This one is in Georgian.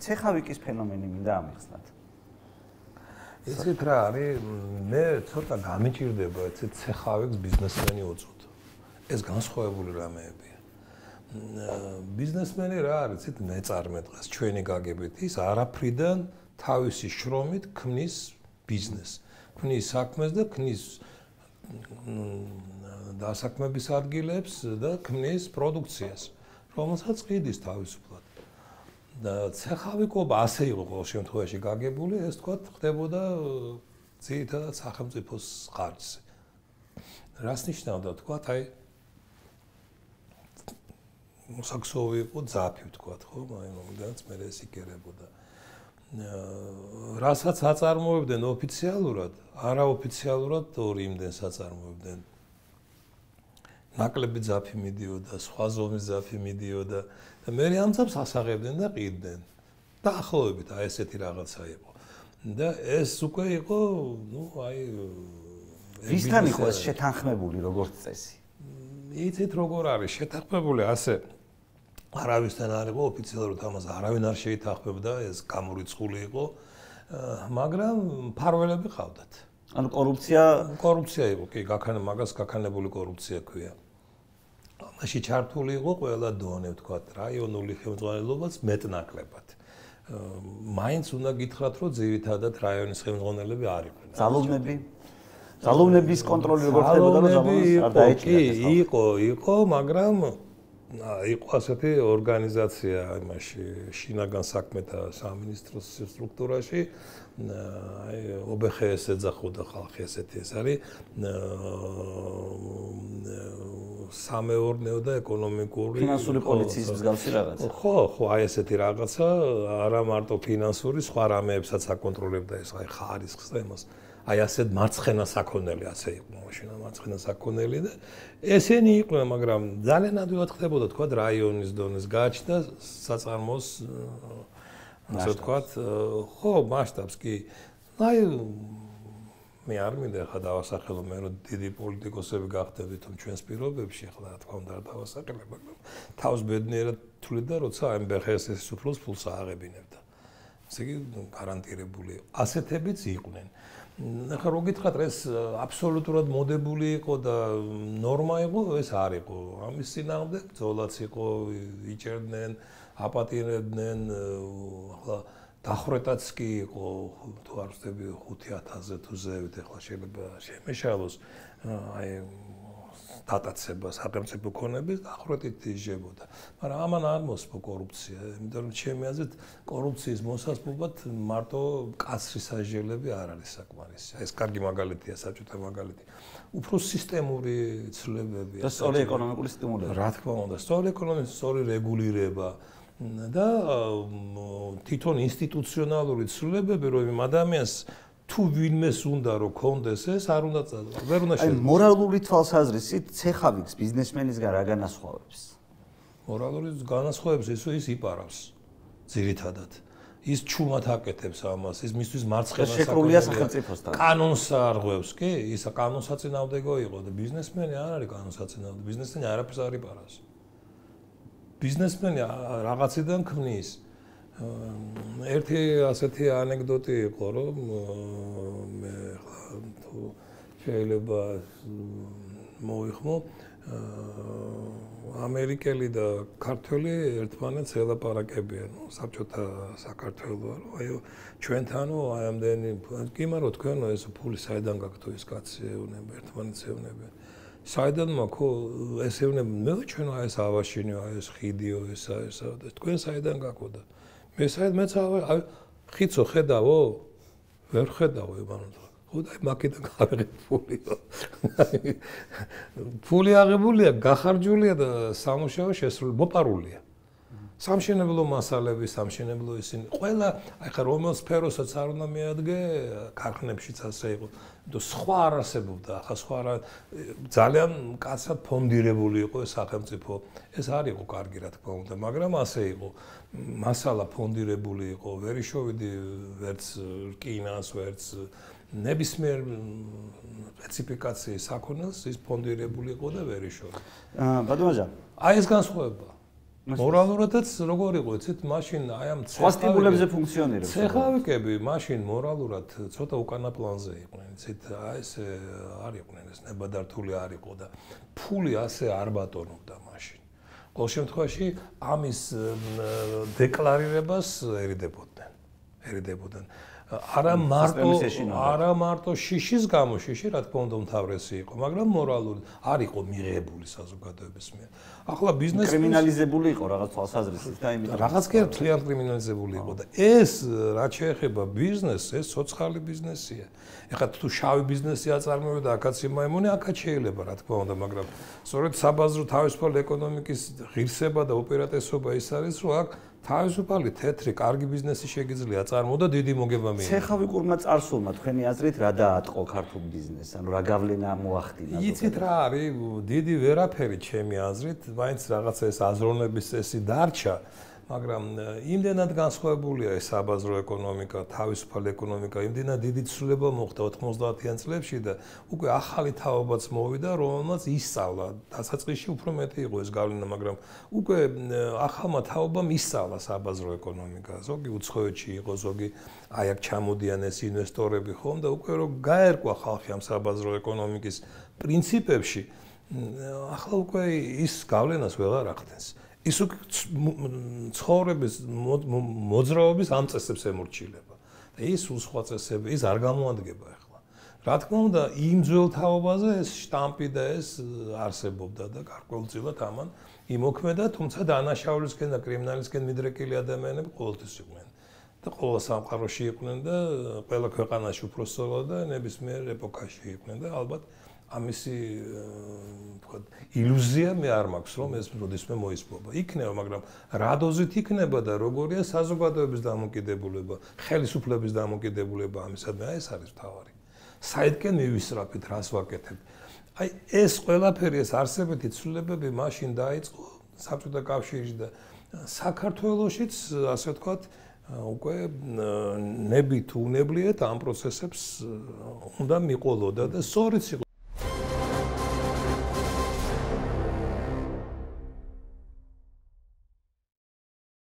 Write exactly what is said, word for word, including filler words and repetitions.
ცეხავიკის ფენომენი მინდა ამიხსნათ. იცით რა არის, მე ცოტა გამიჭირდება ეცეთ ცეხავიქს ბიზნესმენი უწოდ. ეს განსხვავებული რამეებია. ბიზნესმენი რა არის, იცით მეწარმე დღეს ჩვენი გაგებით ის არაფრიდან თავისი შრომით ქმნის ბიზნესს. ქმნის საქმეს და ქმნის დასაქმების ადგილებს და ქმნის პროდუქციას, რომელსაც ყიდის თავისუფლად. და ცეხავიკობა ასე იყო ყოველ შემთხვევაში გაგებული, ეს თქვა ხდებოდა ძირითადად სახელმწიფოს ხარჯზე. რას ნიშნავდა თქვა, აი მოსაქსოვი იყო ძაფი თქვა, ხო, აი მომდანაც მე ეს იკერებოდა. რასაც აწარმოებდნენ ოფიციალურად, არაოფიციალურად ორი იმდენს აწარმოებდნენ. ნაკლები ძაფი მიდიოდა, სხვა ზომის ძაფი მიდიოდა და მე ამ ძაფს ასაღებდნენ და ყიდნენ. დაახლოებით აი ესეთი რაღაცა იყო. და ეს უკვე იყო, ნუ აი ვისთან იყო ეს შეთანხმებული როგორც წესი? იცით როგორ არის შეთანხმებული ასე არავისთან არ იყო ოფიციალურად ამას არავინ არ შეითანხმებდა, ეს გამორიცხული იყო, მაგრამ ფარველები ყავდათ. ანუ კორუფცია კორუფცია იყო, კი, გაქანა მაგას გაქანებული კორუფცია ქვია. ამაში ჩართული იყო ყველა დონე, ვთქვათ, რაიონული ხელმძღვანელობაც მეტნაკლებად. მაინც უნდა გითხრათ, რომ ძირითადად რაიონის ხელმძღვანელები არ იყვნენ. ძალოვნები ძალოვნების კონტროლი როგორ ხდებოდა და ძალოვნებს არ დაეჭირა? კი, იყო, იყო, მაგრამ იყო ასეთი ორგანიზაცია იმაში შინაგან საქმეთა სამინისტროს სტრუქტურაში, აი ობხეს ეძახოდა ხალხი ესეთი ეს არის სამეურნეო და ეკონომიკური ფინანსური პოლიციის მსგავსი რაღაცა. ხო, ხო, აი ესეთი რაღაცა, არა მარტო ფინანსური, სხვა რამეებსაც აკონტროლებდა ეს აი ხარისხს და იმას. აი ასეთ მარცხენა საქონელი ასე იყო მაშინ მარცხენა საქონელი და ესენი იყვნენ, მაგრამ ძალიან ადვილად ხდებოდა თქვა რაიონის დონეს გააჩნდა საწარმოს ასე ვთქვათ, ხო, მასშტაბს კი. აი მე არ მინდა ხა დავასახელო მე რომ დიდი პოლიტიკოსები გახდნენ თვითონ ჩვენს პირობებში, ხლა რა თქმა უნდა არ დავასახელებ, მაგრამ თავს ბედნიერად თვლიდა, როცა ამ ბეხეს ეს სუფროს ფულს ააღებინებდა. ესე იგი გარანტირებული ასეთებიც იყვნენ. ახლა რო გითხრათ ეს აბსოლუტურად მოდებული იყო და ნორმა იყო, ეს არ იყო. ამის წინააღმდეგ ბრძოლაც იყო, იჭერდნენ, აპატირებდნენ, ახლა დახვრეტაც კი იყო, თუ არ ვწდები ხუთი ათასზე თუ ზევით, ახლა შეიძლება შემეშალოს აი დატაცება სახელმწიფო ქონების დახვრეტით იჯებოდა. მაგრამ ამან არ მოსპო კორუფცია, იმიტომ რომ ჩემი აზრით კორუფციის მოსასპობად მარტო კაცრი სასჯელები არ არის საკმარისი. ეს კარგი მაგალითია, საბჭოთა მაგალითი. უფრო სისტემური ცვლილებებია. და სწორი ეკონომიკური სტიმულები. რა თქმა უნდა, სწორი ეკონომიკის სწორი რეგულირება და თვითონ ინსტიტუციონალური ცვლილებები, რომ იმ ადამიანს თუ ვინმეს უნდა რომ კონდეს ეს არ უნდა ვერ უნდა აი მორალური თვალსაზრისით ცეხავიქს ბიზნესმენისგან რა განასხვავებს? მორალური განასხვავებს ის ის იპარავს ძირითადად. ის ჩუმად აკეთებს ამას, ის მისთვის მარცხენა შეკრულია სახელმწიფოსთან. კანონს არღვევს, კი? ის კანონსაწინააღმდეგო იყო და ბიზნესმენი არ არის კანონსაწინააღმდეგო, ბიზნესმენი არაფერს არ იპარავს. ბიზნესმენი რაღაციდან ქმნის. ერთი ასეთი ანეკდოტი იყო, რომ მე თუ შეიძლება მოიხმო, ამერიკელი და ქართველი ერთმანეთს ელაპარაკებიან, საბჭოთა საქართველო, აი ჩვენთანო აი ამდენი კი მარო თქვენო ეს ფული საიდან გაქვთ თუ ის კაცი ეუნება, ერთმანეთს ეუნებიან. საიდან მაქო ეს ეუნება, მე ჩვენ აი ეს ავაშინიო, აი ეს ხიდიო, ესა ესა და თქვენ საიდან გაქვთ? მე საერთოდ მეც აი ხიცო ხედავო? ვერ ხედავო ებანო. ხო და მაგიდან გავიღებ ფულიო. ფული აღებულია, გახარჯულია და სამუშაო შესრული, მოპარულია. სამშენებლო მასალები, სამშენებლო ისინი, ყველა აი ხა რომელ სფეროსაც არ უნდა მიადგე, ქარხნებშიც ასე იყო. და სხვა არ არსებობდა, ახლა სხვა რა ძალიან კაცად ფონდირებული იყო ეს სახელმწიფო. ეს არ იყო კარგი რა თქმა უნდა, მაგრამ ასე იყო. მასალა ფონდირებული იყო, ვერი შოვიდი ვერც რკინას, ვერც ნებისმიერ სპეციფიკაციის საქონელს ის ფონდირებული იყო და ვერი შოვიდი. აა ბატონო, აი ეს განსხვავება. მორალურადაც როგორ იყო, იცით, მაშინ აი ამ ცხოველებზე ფუნქციონირებს. ცეხვავიკები მაშინ მორალურად ცოტა უკანა პლანზე იყვნენ, იცით, აი ეს არ იყვნენ, ეს ნებადართული არ იყო და ფული ასე არ ბატონობდა მაშინ. ყოველ შემთხვევაში ამის დეკლარირებას ერიდებოდნენ. ერიდებოდნენ. არა მარტო არა მარტო შიშის გამო, შიში რა თქმა უნდა უმთავრესი იყო, მაგრამ მორალური არ იყო მიღებული საზოგადოების მიერ. ახლა ბიზნესი კრიმინალიზებული იყო რაღაც თვალსაზრისით და იმით რაღაც კი ძალიან კრიმინალიზებული იყო და ეს რაც შეეხება ბიზნესს, ეს სოციალური ბიზნესია. ეხლა თუ შავი ბიზნესი აწარმოებდა აქაც იმაიმონი, აქაც შეიძლება რა თქმა უნდა, მაგრამ სწორედ საბაზრო თავისუფალი ეკონომიკის ღირსება და უპირატესობა ის არის, რომ აქ თავისუფალი თეთრი კარგი ბიზნესი შეგიძლია აწარმოო და დიდი მოგება მიიღო. ცეხვავიკურმა წარსულმა თქვენი აზრით რა დაატყო ქართულ ბიზნესს? ანუ რა გავლენა მოახდინა? იცით რა არის? დიდი ვერაფერი ჩემი აზრით, მაინც რაღაცა ეს აზროვნების წესი დარჩა, მაგრამ იმდენად განსხვავებულია ეს საბაზრო ეკონომიკა, თავისუფალი ეკონომიკა, იმდენად დიდი ცვლილება მოხდა ოცდაათიან წლებში და უკვე ახალი თაობაც მოვიდა, რომელმაც ისწავლა. დასაწყისში უფრო მეტი იყო ეს გავლენა, მაგრამ უკვე ახალმა თაობამ ისწავლა საბაზრო ეკონომიკა. ზოგი უცხოეთში იყო, ზოგი აი აქ ჩამოდიან ეს ინვესტორები ხომ და უკვე რო გაერკვა ხალხი ამ საბაზრო ეკონომიკის პრინციპებში, ახლა უკვე ის გავლენას ვეღარ ახდენს. ის უკვე ცხოვრების მოძრაობის ამ წესებს ემორჩილება და ის სხვა წესები ის არ გამოადგება ახლა. რა თქმა უნდა, იმ ძველ თაობაზე ეს შტამპი და ეს არსებობდა და გარკვეულწილად ამან იმოქმედა, თუმცა დანაშაულისკენ და კრიმინალისკენ მიდრეკილი ადამიანები ყოველთვის იყვნენ და ყველა სამყაროში იყვნენ და ყველა ქვეყანაში უფრო სწორად და ნებისმიერ ეპოქაში იყვნენ და ალბათ ამისი ვთქვათ ილუზია მე არ მაქვს რომ ეს როდესმე მოისპობა. იქნება, მაგრამ რა დოზით იქნება და როგორია საზოგადოების დამოკიდებულება, ხელისუფლების დამოკიდებულება ამისადმი, აი ეს არის თავარი. საიდკენ მივისწრაფით, რას ვაკეთებ. აი ეს ყველაფერი ეს არსებითი ცვლილებები მაშინ დაიწყო საბჭოთა კავშირში და საქართველოშიც ასე ვთქვათ უკვე ნებით უნებლიეთ ამ პროცესებს უნდა მიყოლოდა და სწორიც იყო